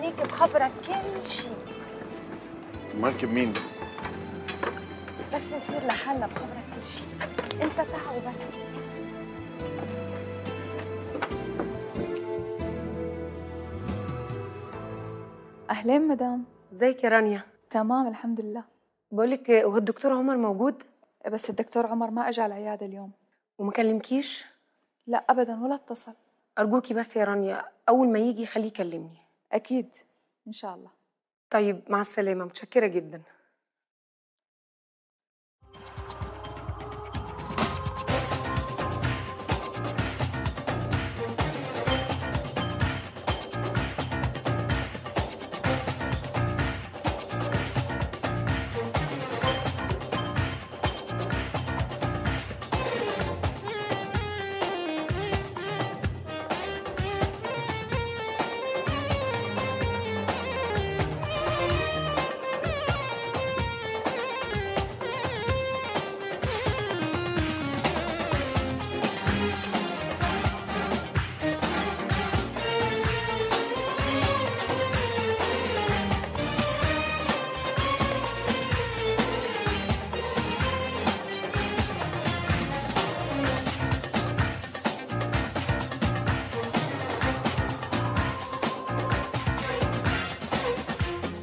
خليك بخبرك كل شيء. مركب مين؟ بس نصير لحالنا بخبرك كل شيء، انت تعا وبس. أهلين مدام. ازيك يا رانيا؟ تمام الحمد لله. بقولك هو الدكتور عمر موجود؟ بس الدكتور عمر ما أجى على العيادة اليوم. وما كلمكيش؟ لا أبدا ولا اتصل. أرجوكي بس يا رانيا أول ما يجي خليه يكلمني. أكيد إن شاء الله. طيب مع السلامة، متشكرة جدا.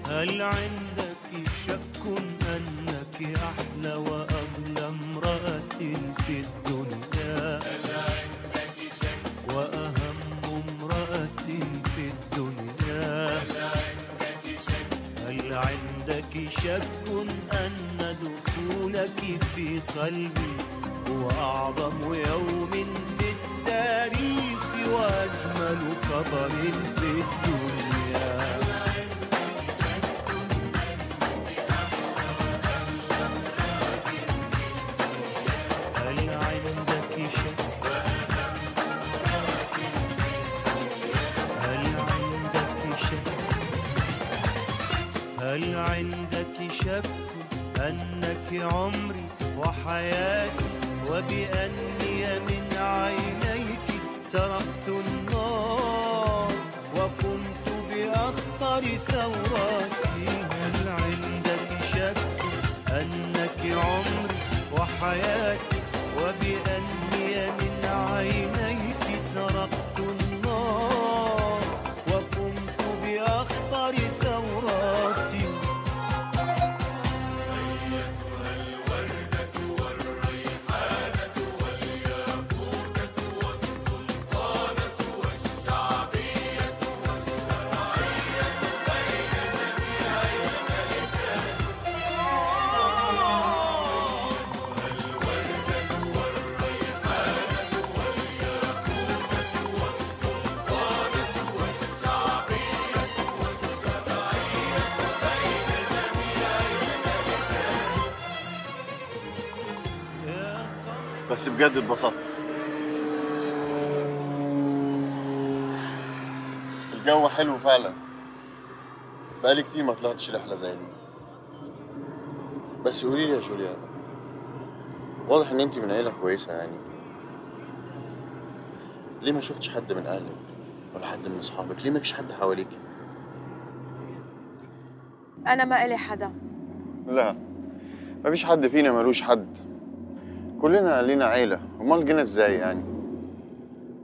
هل عندك شك أنك أحلى وأغلى امرأة في الدنيا؟ هل عندك شك وأهم امرأة في الدنيا؟ هل عندك شك؟ هل عندك شك أن دخولك في قلبي هو أعظم يوم في التاريخ وأجمل خبر في الدنيا؟ هل عندك شك أنك عمري وحياتي وبأني من عينيك سرقت النار وقمت بأخطر ثوراتي؟ هل عندك شك أنك عمري وحياتي وبأني من عينيك سرقت النار وقمت بأخطر ثوراتي؟ بس بجد اتبسطت. الجو حلو فعلا، بقالي كتير ما طلعتش رحلة زي دي. بس قولي لي يا جوليا، واضح ان انت من عيلة كويسة يعني، ليه ما شفتش حد من اهلك ولا حد من اصحابك؟ ليه ما فيش حد حواليك؟ انا ما إلي حدا. لا، ما فيش حد فينا ملوش حد، كلنا لينا عيلة. امال جينا ازاي يعني؟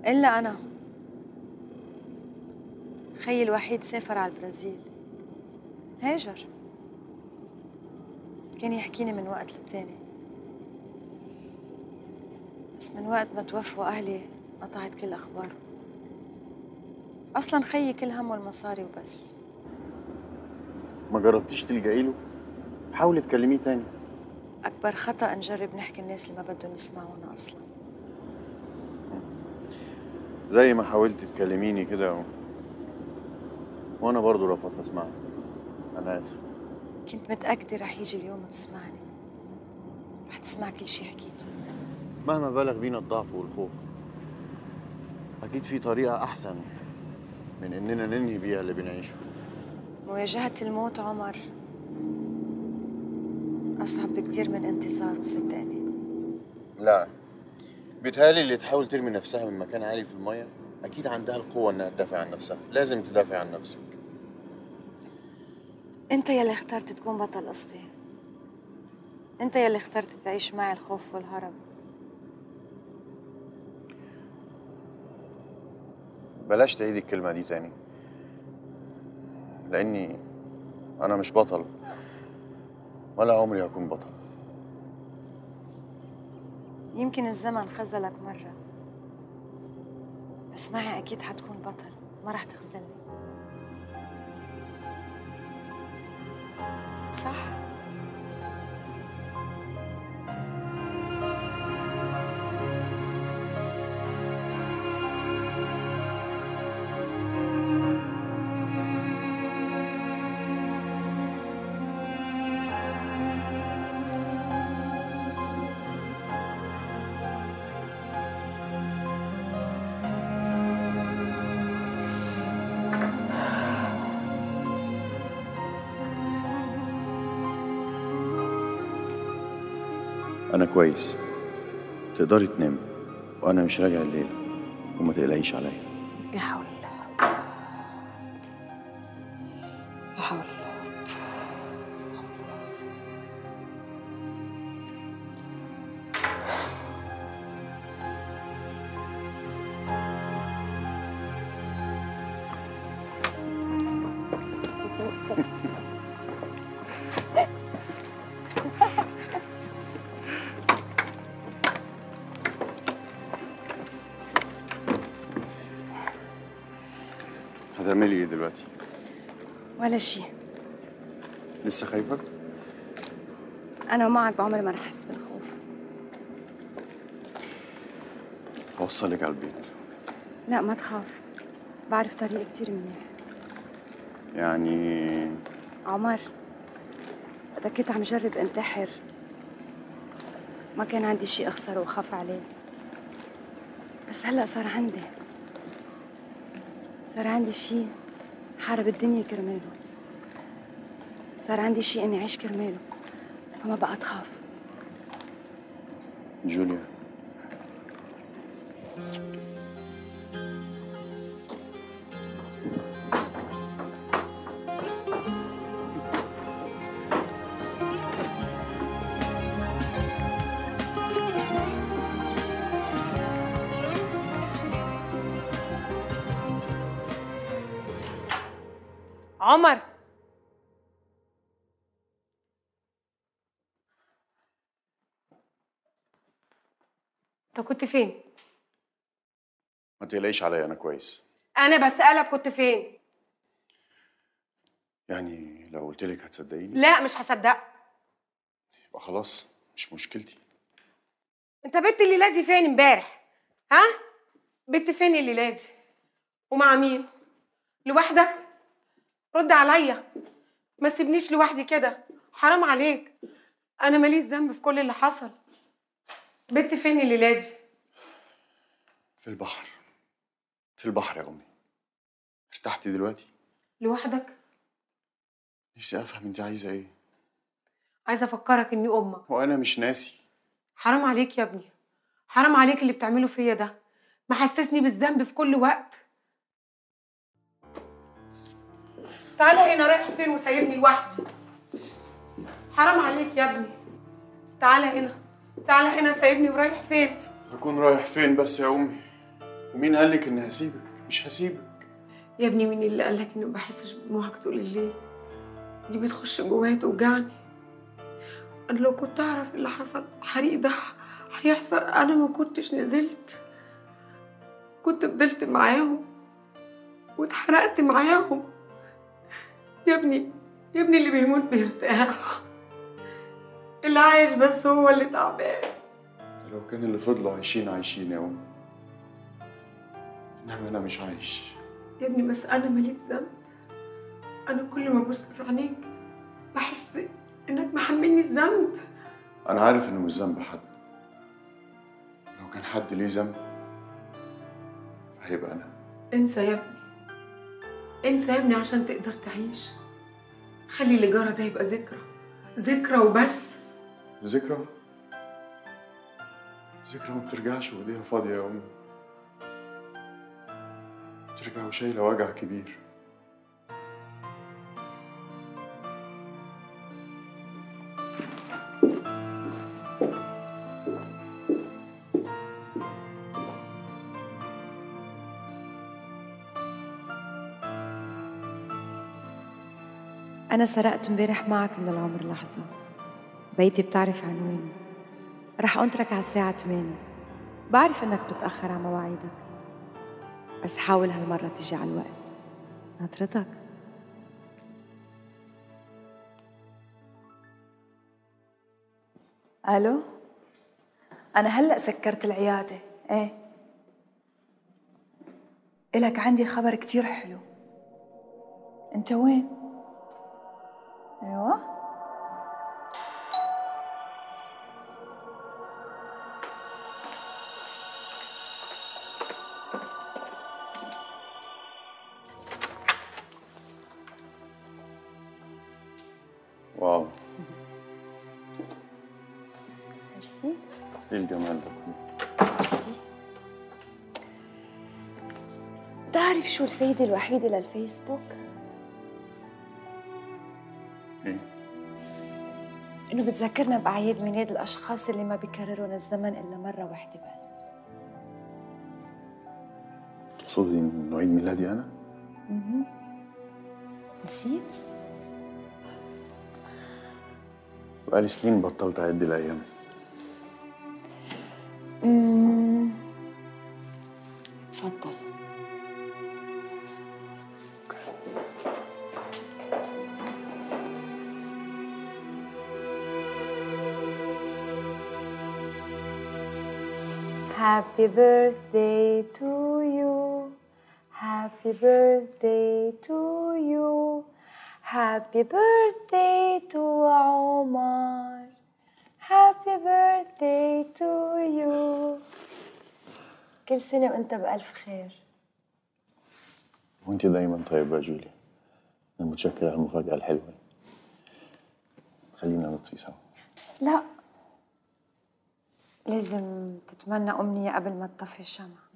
الا انا، خيي الوحيد سافر على البرازيل، هاجر. كان يحكيني من وقت للتاني، بس من وقت ما توفوا أهلي قطعت كل أخباره. أصلاً خيي كل همه المصاري وبس. ما جربتيش تلجئي له؟ حاولي تكلميه تاني. أكبر خطأ نجرب نحكي الناس اللي ما بدهم يسمعونا أصلاً. زي ما حاولتي تكلميني كده وانا برضو رفضت اسمعها. انا اسف. كنت متأكدة رح يجي اليوم وتسمعني، رح تسمع كل شي حكيته. مهما بلغ بينا الضعف والخوف، اكيد في طريقة احسن من اننا ننهي بيها اللي بنعيشه. مواجهة الموت عمر أصعب بكتير من انتصاره، صدقني. لا، بيتهيألي اللي تحاول ترمي نفسها من مكان عالي في المية أكيد عندها القوة إنها تدافع عن نفسها. لازم تدافع عن نفسك. انت يلي اخترت تكون بطل قصتي. انت يلي اخترت تعيش معي الخوف والهرب. بلاش تعيدي الكلمة دي تاني، لأني أنا مش بطل ولا عمري هكون بطل. يمكن الزمن خذلك مرة، بس معي أكيد حتكون بطل، ما رح تخذلني. صح؟ أنا كويس، تقدري تنامي وأنا مش راجع الليل، وما تقلقيش عليا. لا حول الله، لا حول الله. هتعملي إيه دلوقتي؟ ولا شيء. لسه خايفة؟ أنا معك بعمري ما رح أحس بالخوف. هوصلك على البيت. لا ما تخاف، بعرف طريق كتير منيح. يعني عمر، وقتا كنت عم جرب انتحر ما كان عندي شيء أخسره وخاف عليه، بس هلأ صار عندي شيء حارب الدنيا كرماله، صار عندي شيء إني أعيش كرماله، فما بقى تخاف. جوليا، عمر، انت كنت فين؟ ما تقلقيش عليا، أنا كويس. انا بسألك كنت فين؟ يعني لو قلت لك هتصدقيني؟ لا مش هصدقك. يبقى خلاص مش مشكلتي. انت بنت الليلة دي فين امبارح؟ ها؟ بنت فين الليلة دي؟ ومع مين؟ لوحدك؟ رد عليا، ما تسيبنيش لوحدي كده، حرام عليك، انا ماليش ذنب في كل اللي حصل. بنت فين الليلة دي؟ في البحر، في البحر يا أمي. ارتحتي دلوقتي؟ لوحدك؟ نفسي أفهم أنت عايزة إيه؟ عايزة افكرك اني امك. وأنا مش ناسي. حرام عليك يا ابني، حرام عليك اللي بتعمله فيا ده، محسسني بالذنب في كل وقت. تعالى هنا، رايح فين وسايبني لوحدي؟ حرام عليك يا ابني، تعالى هنا، تعالى هنا، سايبني ورايح فين؟ هكون رايح فين بس يا أمي؟ ومين قالك إني هسيبك؟ مش هسيبك. يا ابني مين اللي قالك اني ما بحسش بدموعك طول الليل؟ دي بتخش جوايا توجعني. انا لو كنت اعرف اللي حصل الحريق ده هيحصل انا ما كنتش نزلت، كنت فضلت معاهم واتحرقت معاهم. يا ابني، يا ابني اللي بيموت بيرتاح، اللي عايش بس هو اللي تعبان. لو كان اللي فضلوا عايشين عايشين يا أمي، إنما أنا مش عايش. يا ابني بس انا ماليش ذنب، انا كل ما ابص في عينيك بحس انك محملني الذنب. أنا عارف إنه مش ذنب حد، لو كان حد ليه ذنب فهيبقى أنا. انسى يا ابني، انسى يا ابني عشان تقدر تعيش. خلي اللي جرى ده يبقى ذكرى، ذكرى وبس. ذكرى؟ ذكرى ما بترجعش وإيديها فاضية يا أمي، بترجع وشايلة وجع كبير. أنا سرقت امبارح معك من العمر لحظة. بيتي بتعرف عنواني. رح أنطرك على الساعة 8. بعرف إنك بتتأخر على مواعيدك، بس حاول هالمرة تيجي على الوقت. ناطرتك. الو، انا هلا سكرت العياده. ايه، إلك عندي خبر كتير حلو. انت وين؟ ايوه، واو، ميرسي. ايه الجمال ده كله؟ ميرسي. بتعرف شو الفايدة الوحيدة للفيسبوك؟ ايه؟ إنه بتذكرنا بأعياد ميلاد الأشخاص اللي ما بيكررون الزمن إلا مرة واحدة بس. تقصدي انه عيد ميلادي انا؟ نسيت؟ بقالي سنين بطلت اعد الايام. تفضل. Happy birthday to you. Happy birthday to you. Happy birthday to عمر. Happy birthday to you. كل سنة وانت بألف خير. وانت دايما طيبة يا جولي. انا متشكر على المفاجأة الحلوة. خلينا نطفي سوا. لا، لازم تتمنى أمنية قبل ما تطفي الشمعة.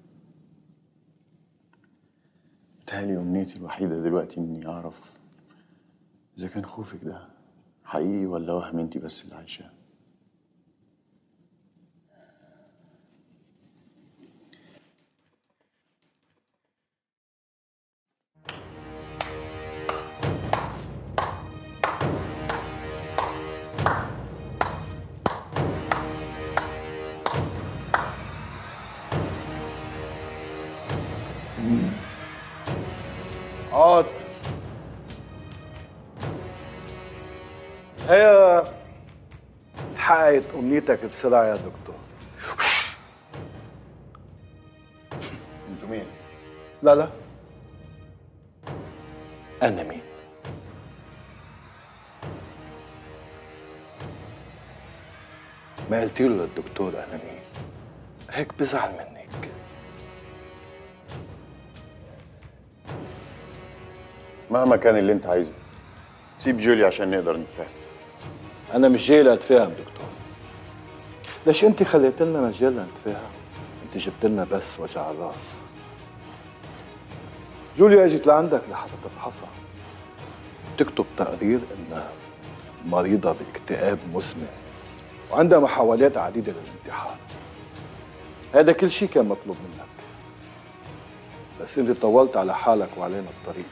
بتهيألي أمنيتي الوحيدة دلوقتي إني أعرف إذا كان خوفك ده حقيقي ولا وهم انتي بس اللي عايشاه. عاد هي حققت أمنيتك بسرعة يا دكتور. انتوا مين؟ لا لا، أنا مين؟ ما قلتي له للدكتور أنا مين، هيك بزعل منك. مهما كان اللي انت عايزه سيب جولي عشان نقدر نتفاهم. أنا مش جاي لأتفاهم دكتور. ليش أنت خليت لنا مجال لنتفاهم؟ أنت جبت لنا بس وجع الراس. جوليا اجت لعندك لحتى تفحصها، تكتب تقرير انها مريضة باكتئاب مزمن وعندها محاولات عديدة للانتحار. هذا كل شيء كان مطلوب منك، بس انت طولت على حالك وعلينا الطريق.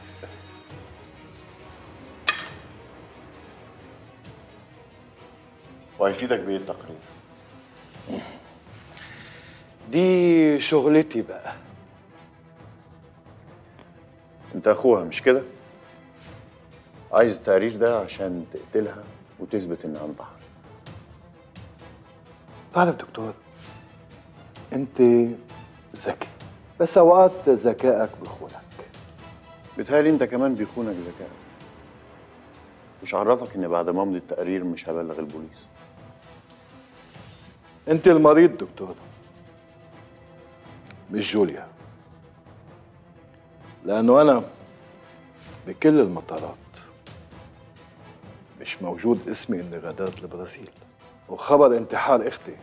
وهيفيدك بايه التقرير؟ دي شغلتي بقى. انت اخوها مش كده؟ عايز التقرير ده عشان تقتلها وتثبت انها انتحرت. تعرف دكتور، انت ذكي، بس اوقات ذكائك بيخونك. بيتهيألي انت كمان بيخونك ذكائك. مش عرفك ان بعد ما امضي التقرير مش هبلغ البوليس. انت المريض دكتور، مش جوليا. لانه انا بكل المطارات مش موجود اسمي اني غادرت البرازيل، وخبر انتحار اختي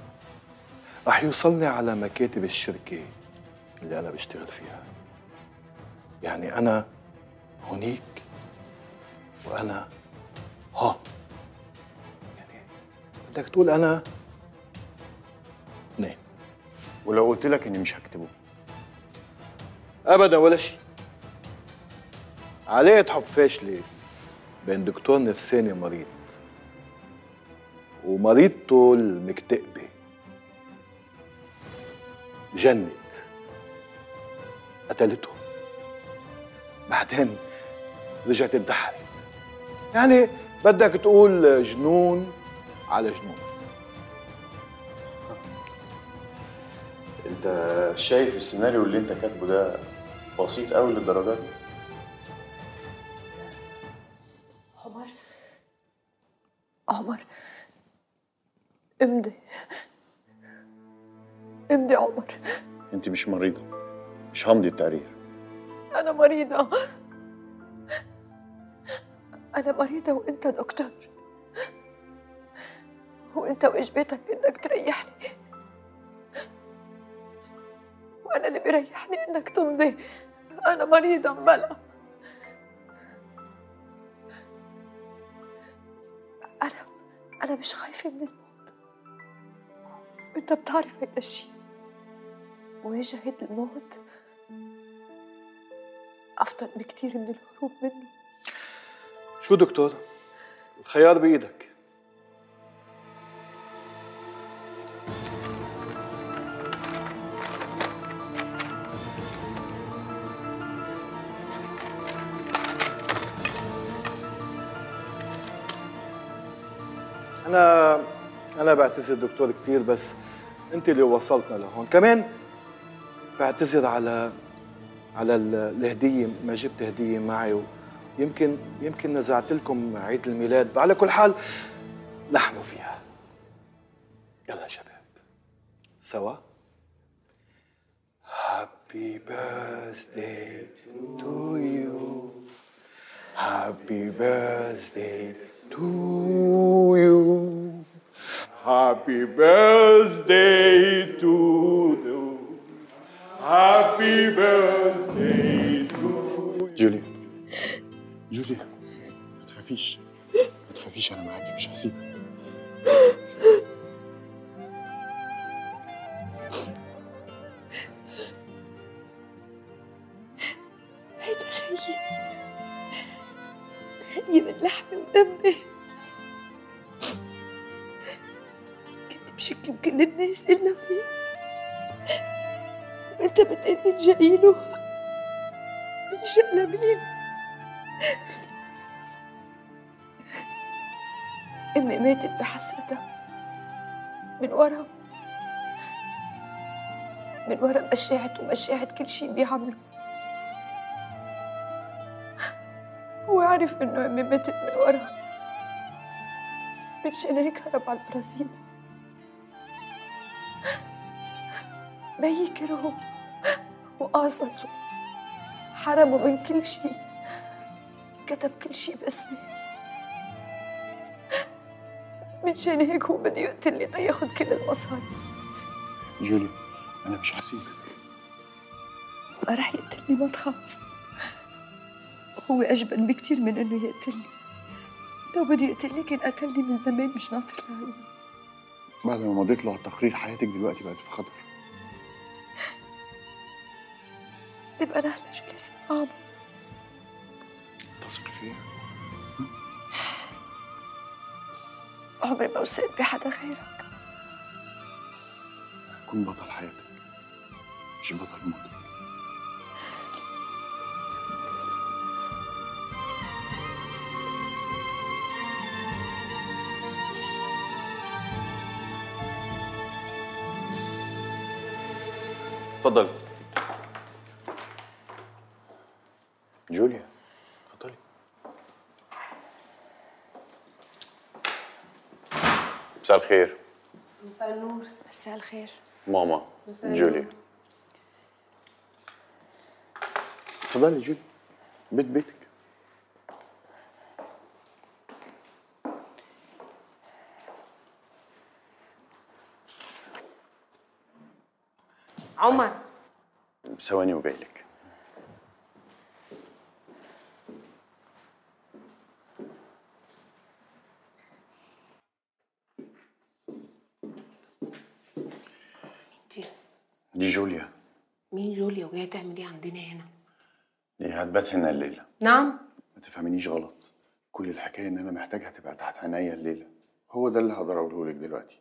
رح يوصلني على مكاتب الشركة اللي انا بشتغل فيها. يعني انا هونيك وانا هون. يعني بدك تقول انا اثنين. ولو قلت لك اني مش هكتبه؟ ابدا ولا شيء. علاقة حب فاشلة بين دكتور نفساني مريض ومريضته المكتئبة جنت قتلته، بعدين رجعت انتحرت. يعني بدك تقول جنون على جنون. انت شايف السيناريو اللي انت كاتبه ده بسيط قوي للدرجه دي؟ عمر امضي امضي عمر. انت مش مريضه، مش همضي التقرير. أنا مريضة، أنا مريضة وأنت دكتور، وأنت واجبتك إنك تريحني، وأنا اللي بيريحني إنك تمضي. أنا مريضة مبلا. أنا مش خايفة من الموت، أنت بتعرف هيدا الشيء. مواجهة الموت أفضل بكتير من الهروب منه. شو دكتور؟ الخيار بإيدك. أنا بعتذر دكتور كتير، بس أنت اللي وصلتنا لهون. كمان بعتذر على الهدية، ما جبت هدية معي، ويمكن نزعت لكم عيد الميلاد. على كل حال لحموا فيها. يلا يا شباب سوا. Happy birthday to you. Happy birthday to you. Happy birthday to you. Happy birthday to you. جوليا جوليا، ما تخافيش ما تخافيش، انا معاكي مش هسيبك. هيدا خيي من لحمي ودمي. كنت بشك بكل الناس إلا فيه، وأنت بتقلي الجايله الجأ لمين؟ أمي ماتت بحسرتها من ورا مشاعة كل شيء بيعمله. هو عرف إنه أمي ماتت من ورا، مشان هيك هرب على البرازيل. بيي كرهه وقاصصه، حرمه من كل شيء، كتب كل شيء باسمي. مشان هيك هو بده يقتلني تياخد كل المصاري. جوليا انا مش هسيبك. ما رح يقتلني، ما تخاف. هو أجبن بكتير من إنه يقتلني. لو بده يقتلني كان قتلني من زمان، مش ناطر لهلا. بعد ما مضيت له على التقرير حياتك دلوقتي بقت في خطر. تبقى أنا هلا شو لازم أعمل؟ تثقي فيا؟ عمري ما وثقت بحدا غيرك. كن بطل حياتك مش بطل موتك. اتفضلي جوليا، اتفضلي. مساء الخير. مساء النور. مساء الخير ماما. مساء جوليا النور. اتفضلي جوليا، بيتك. عمر ثواني وجايلك. دي جوليا. مين جوليا وجايه تعمل ايه عندنا هنا؟ دي هتبات هنا الليله. نعم. ما تفهمينيش غلط، كل الحكايه ان انا محتاجها تبقى تحت عينيا الليله. هو ده اللي هقدر اقوله لك دلوقتي.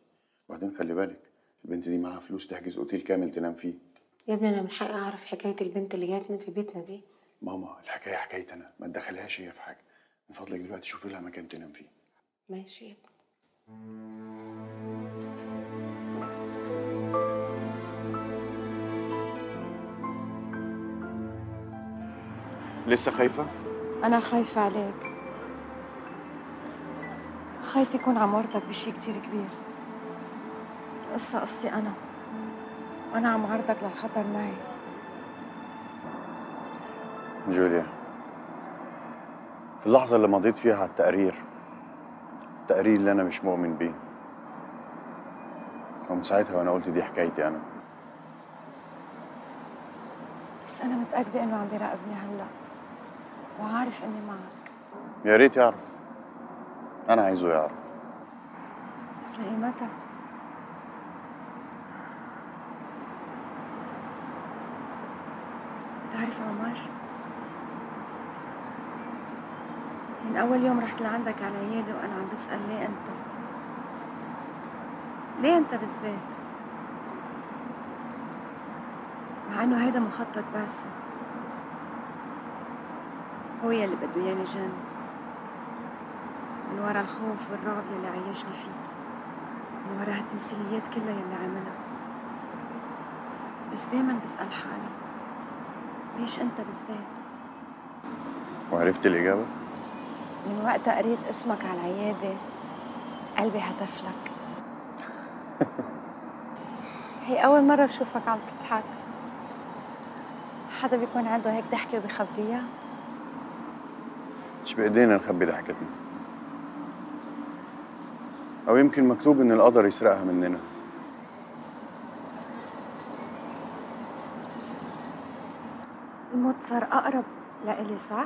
وبعدين خلي بالك البنت دي معاها فلوس تحجز اوتيل كامل تنام فيه. يا ابني انا من حقي اعرف حكايه البنت اللي جايه تنام في بيتنا دي. ماما الحكايه حكايتي انا، ما تدخلهاش هي في حاجه. من فضلك دلوقتي شوفي لها مكان تنام فيه. ماشي يا ابني. لسه خايفه؟ أنا خايفة عليك، خايفة يكون عم ورطك بشي كتير كبير. القصة قصتي أنا، وأنا عم عرضك للخطر معي. جوليا، في اللحظة اللي مضيت فيها على التقرير اللي أنا مش مؤمن بيه، ومن ساعتها وأنا قلت دي حكايتي أنا. بس أنا متأكدة إنه عم بيراقبني هلأ، وعارف إني معك. يا ريت يعرف، أنا عايزه يعرف. بس لإيمتى؟ بتعرف عمر، من أول يوم رحت لعندك على العيادة وأنا عم بسأل ليه أنت؟ ليه أنت بالذات؟ مع إنه هيدا مخطط باسل، هو يلي بده إياني جن من ورا الخوف والرعب يلي عيشني فيه، من ورا هالتمثيليات كلها يلي عملها. بس دايما بسأل حالي ليش أنت بالذات؟ وعرفت الإجابة؟ من وقتها قريت اسمك على العيادة قلبي هتف لك. هي أول مرة بشوفك عم تضحك. حدا بيكون عنده هيك ضحكة وبيخبيها؟ مش بإيدينا نخبي ضحكتنا، أو يمكن مكتوب إن القدر يسرقها مننا. الموت صار أقرب لإلي صح؟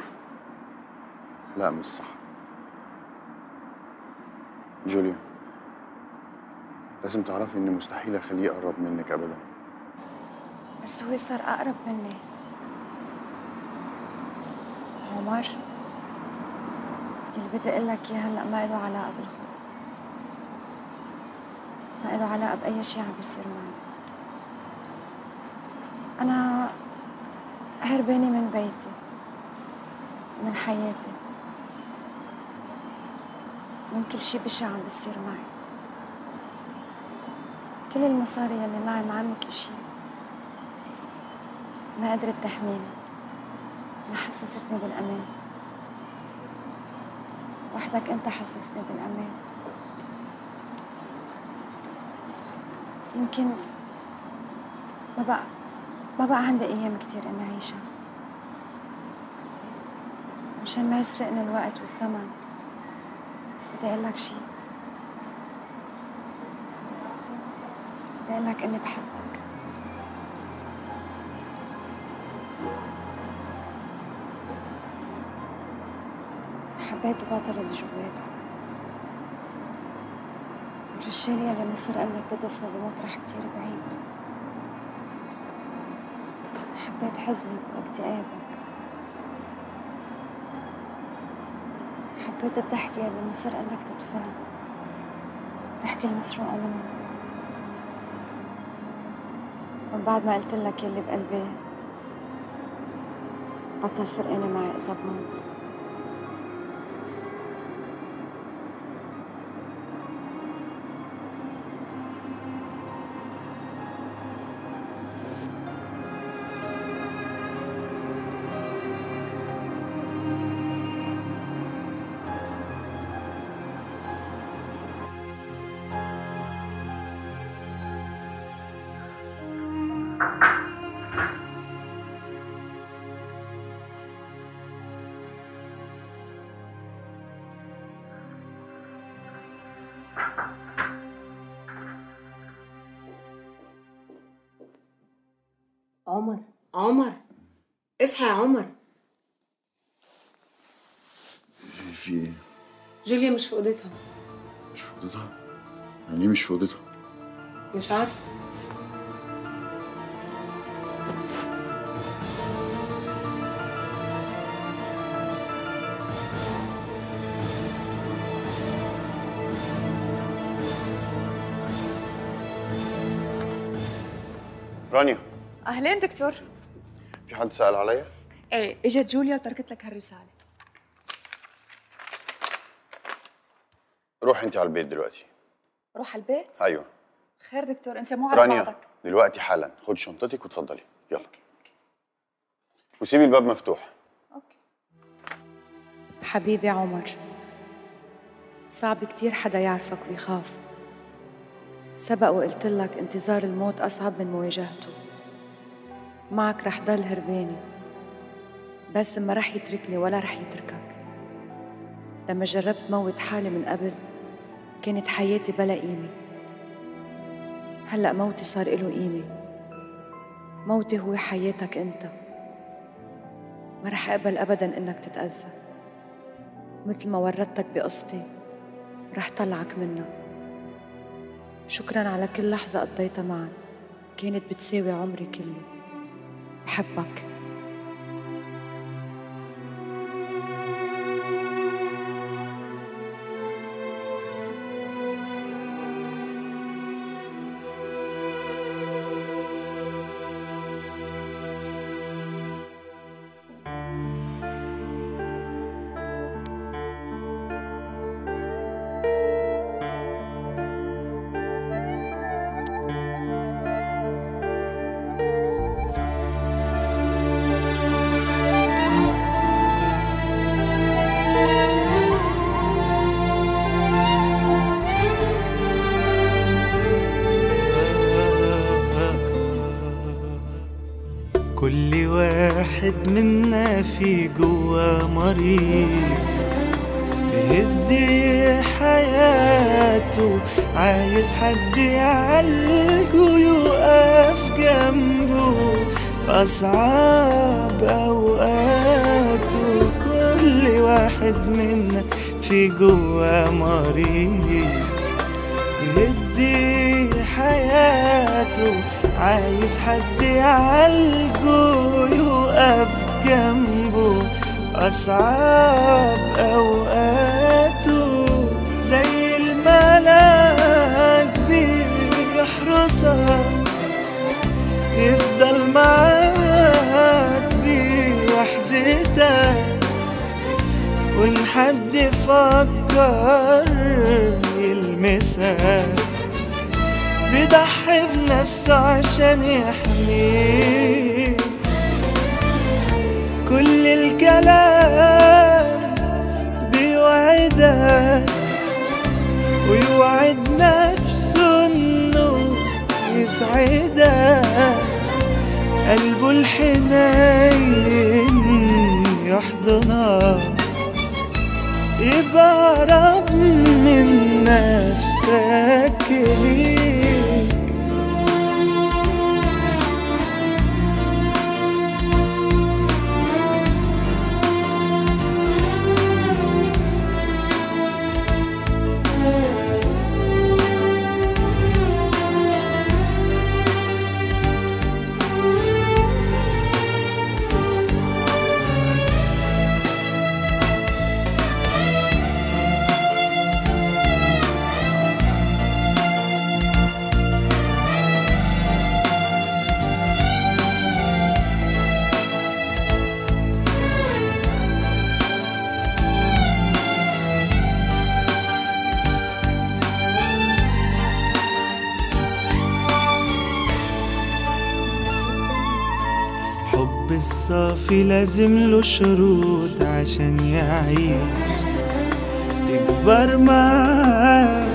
لا مش صح جوليا، لازم تعرفي إن مستحيل أخليه يقرب منك أبدا. بس هو صار أقرب مني. عمر، اللي بدي أقول لك إياه هلأ ما له علاقة بالخوف، ما له علاقة بأي شيء عم بيصير معي. أنا هربانة من بيتي، من حياتي، من كل شيء بشع عم بيصير معي. كل المصاري يلي معي معمي كل شيء، ما قدرت تحميني، ما حسستني بالأمان. وحدك أنت حسسني بالأمان. يمكن ما بقى عندي أيام كتير إني أعيشها. مشان ما يسرقني الوقت والزمن بدي أقول لك شيء، بدي أقول لك إني بحبك. حبيت البطل اللي جواتك، الرجال يلي مصر قالك تدفنه بمطرح كتير بعيد. حبيت حزنك واكتئابك، حبيت الضحكة يلي مصر قالك تدفنه، الضحكة المسروقة منك. ومن بعد ما قلت لك يلي بقلبي بطل فرقانة معي إذا بموت. عمر اصحى يا عمر. في ايه؟ جوليا مش في اوضتها. مش في اوضتها؟ يعني ايه مش في اوضتها؟ مش عارفه. رانيا، اهلين دكتور. في حد سأل عليا؟ ايه، اجت جوليا وتركت لك هالرساله. روح انت على البيت دلوقتي. روح على البيت؟ ايوه. خير دكتور، انت مو على رانيا بعضك. دلوقتي حالا خد شنطتك وتفضلي يلا. وسيبي الباب مفتوح. اوكي. حبيبي عمر، صعب كتير حدا يعرفك ويخاف. سبق وقلت لك انتظار الموت أصعب من مواجهته. معك رح ضل هرباني، بس ما رح يتركني ولا رح يتركك. لما جربت موت حالي من قبل كانت حياتي بلا قيمة. هلأ موتي صار إله قيمة. موتي هو حياتك أنت. ما رح أقبل أبداً إنك تتأذى. مثل ما ورطتك بقصتي رح طلعك منها. شكراً على كل لحظة قضيتها معا، كانت بتساوي عمري كله. بحبك. كل واحد منا في جوا مريض بيهدي حياته، عايز حد يعالجه يقف جنبه أصعب أوقاته. كل واحد منا في جوا مريض بيهدي حياته، عايز حد يعالجه يقف جنبه أصعب أوقاته. زي الملاك بيحرسك يفضل معاك بوحدتك، وإن حد فكر يلمسك بيضحي بنفسه عشان يحميك. كل الكلام بيوعدك ويوعد نفسه انه يسعدك، قلبه الحنين يحضنك، يبقى قرب من نفسك ليك. الحب الصافي لازم له شروط عشان يعيش، يكبر معاك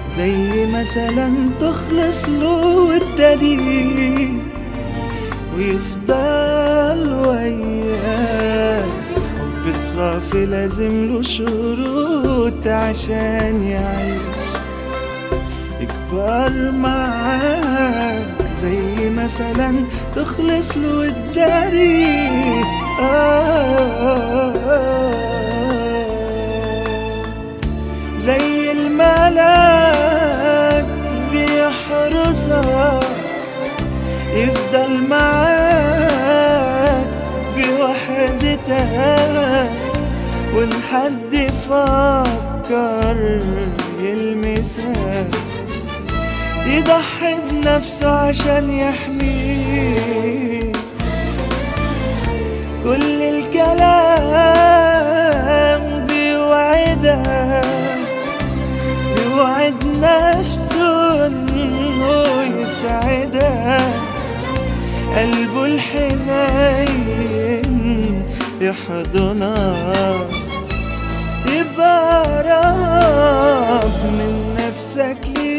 زي مثلا تخلص له الطريق ويفضل وياك. الحب الصافي لازم له شروط عشان يعيش، يكبر معاك زي مثلا تخلص له الطريق. زي الملاك بيحرسك يفضل معاك بوحدتك، وإن حد فكر يلمسك يضحي بنفسه عشان يحميه. كل الكلام بيوعدها، بيوعد نفسه انه يسعدها. قلبه الحنين يحضنها، يبقى قرب من نفسك ليه.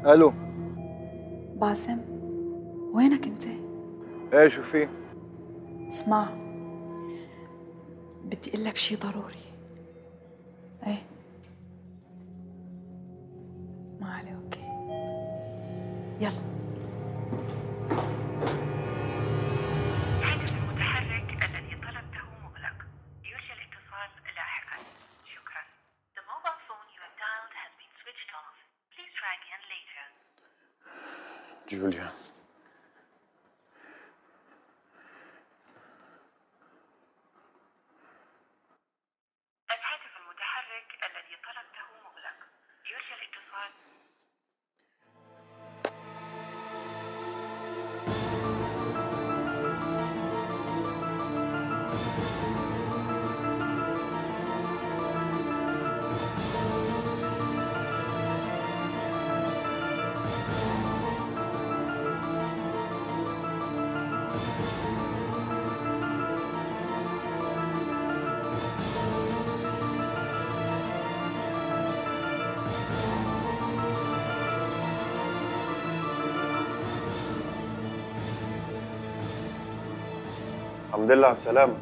الو. باسم، وينك انت؟ ايه شو في؟ اسمع، بدي اقول لك شيء ضروري. ايه ما عليه. اوكي يلا. الهاتف المتحرك الذي طلبته مغلق، يرجى الاتصال لاحقا. شكرا. The mobile phone you have dialed has been switched off. Please try again later. جوليا، الهاتف المتحرك الذي طلبته مغلق، يرجى الاتصال. الحمد لله على السلامة.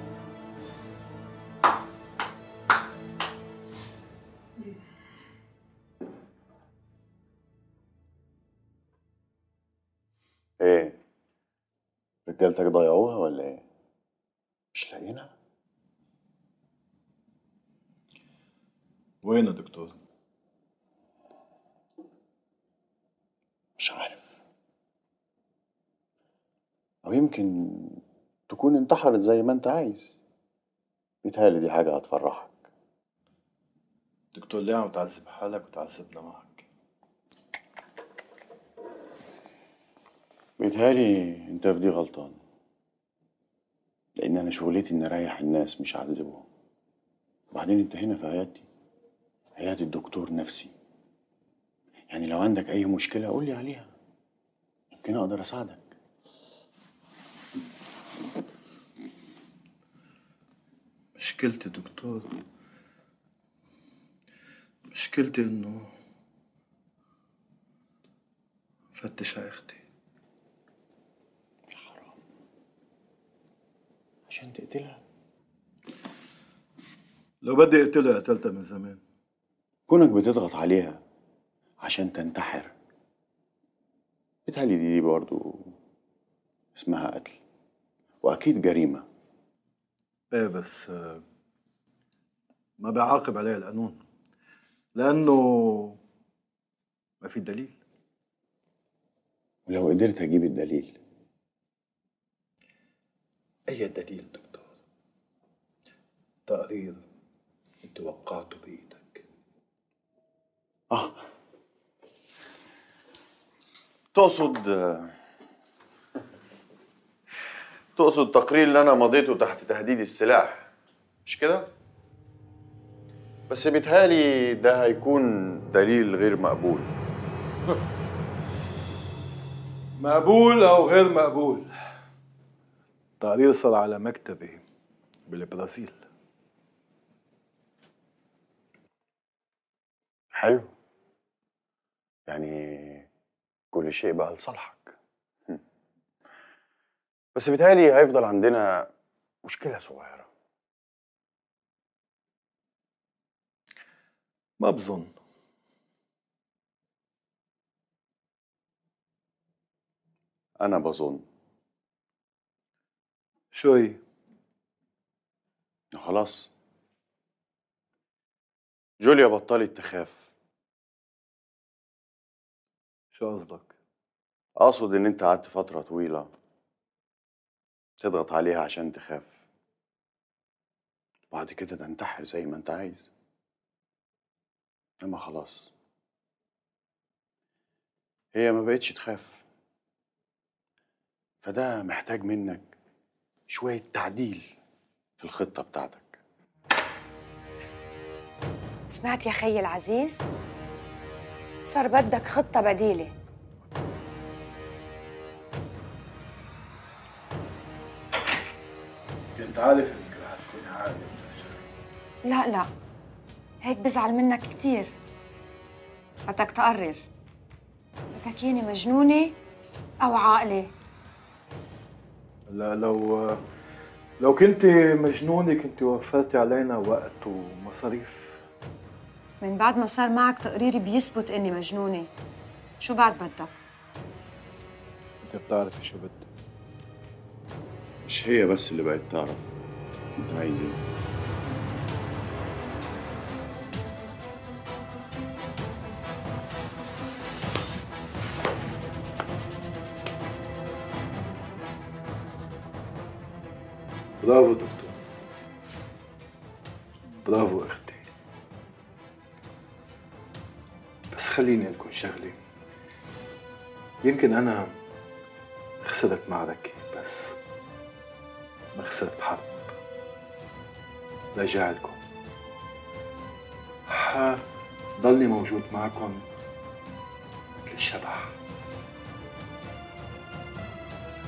ايه؟ رجالتك ضيعوها ولا ايه؟ مش لاقينا؟ وين يا دكتور؟ مش عارف، أو يمكن تكون انتحرت زي ما انت عايز. بيتهيألي دي حاجة هتفرحك. دكتور ليه عم تعذب حالك وتعذبنا معك؟ بيتهيألي انت في دي غلطان، لأن أنا شغلتي إني أريح الناس مش أعذبهم. وبعدين انت هنا في عيادتي، عيادة دكتور نفسي، يعني لو عندك أي مشكلة قولي عليها، يمكن أقدر أساعدك. مشكلتي دكتور، مشكلتي انه فتش على اختي. حرام، عشان تقتلها؟ لو بدي اقتلها قتلتها من زمان. كونك بتضغط عليها عشان تنتحر، بيتهيألي دي برضو اسمها قتل، وأكيد جريمة. ايه بس ما بيعاقب عليها القانون لأنه ما في دليل. ولو قدرت أجيب الدليل؟ أي دليل دكتور؟ تقرير أنت وقعته بإيدك. تقصد تقرير اللي أنا مضيته تحت تهديد السلاح، مش كده؟ بس بيتهيألي ده هيكون دليل غير مقبول. مقبول أو غير مقبول، التقرير صار على مكتبي بالبرازيل. حلو. يعني كل شيء بقى لصالحك. بس بيتهيألي هيفضل عندنا مشكلة صغيرة. ما بظن. أنا بظن. شو هي؟ خلاص جوليا بطلت تخاف. شو قصدك؟ أقصد إن أنت قعدت فترة طويلة تضغط عليها عشان تخاف، وبعد كده تنتحر زي ما أنت عايز. أما خلاص هي ما بقتش تخاف، فده محتاج منك شوية تعديل في الخطة بتاعتك. سمعت يا خيي العزيز؟ صار بدك خطة بديلة. كنت عارف انك رح تكوني عاقلة. لا هيك بزعل منك كتير. بدك تقرر، بدك ياني مجنونة أو عاقلة؟ لا، لو كنت مجنونة كنت وفرتي علينا وقت ومصاريف. من بعد ما صار معك تقريري بيثبت إني مجنونة، شو بعد بدك؟ انت بتعرفي شو بدي. مش هي بس اللي بقت تعرف أنت عايز إيه. برافو دكتور، برافو اختي. بس خليني اقول شغله. يمكن انا خسرت معركه بس ما خسرت حرب. راجع لكم، ضلني موجود معكم مثل الشبح.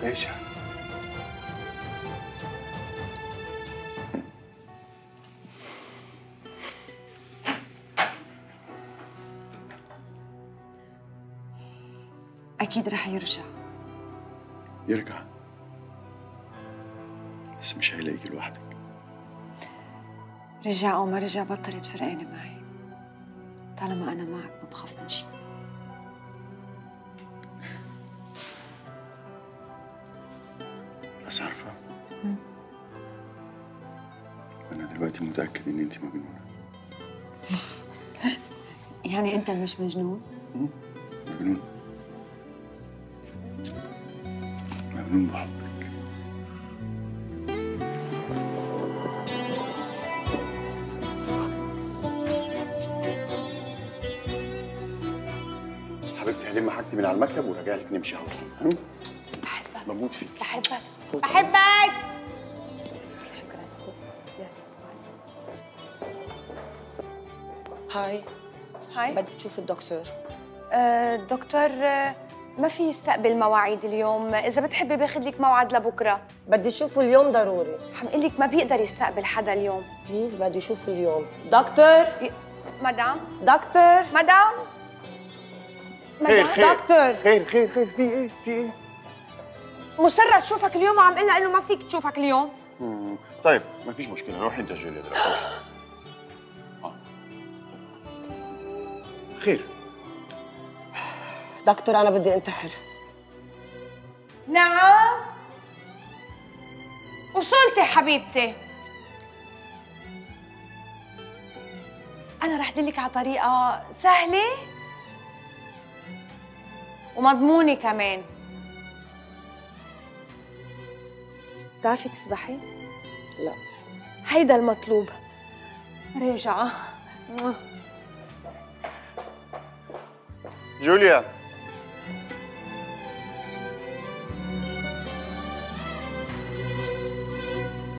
راجع. أكيد رح يرجع. يرجع، بس مش هيلاقيك لوحدك. رجع أو ما رجع بطلت فرقانة معي. طالما أنا معك ما بخاف من شيء. بس عارفة، أنا دلوقتي متأكد إن أنت مجنونة. يعني أنت مش مجنون؟ مجنون. مجنون بحبك. حبيبتي هلم حاجتي من على المكتب وراجع لك نمشي على طول. بحبك. بموت فيك. بحبك. بحبك. شكرا. هاي بدي تشوف الدكتور. الدكتور ما في يستقبل مواعيد اليوم. إذا بتحبي باخذ لك موعد لبكرة. بدي اشوفه اليوم ضروري. حنقول لك ما بيقدر يستقبل حدا اليوم. بليز بدي اشوفه اليوم. دكتور مدام. دكتور مدام. خير دكتور. خير في ايه؟ مصرة تشوفك اليوم وعم قلنا انه ما فيك تشوفك اليوم. طيب ما فيش مشكلة، روحي انت يا جوليا دلوقتي. خير. دكتور انا بدي انتحر. نعم وصلتي حبيبتي. أنا رح دلك على طريقة سهلة ومضمونة كمان. بتعرفي تسبحي؟ لا. هيدا المطلوب. راجعة. جوليا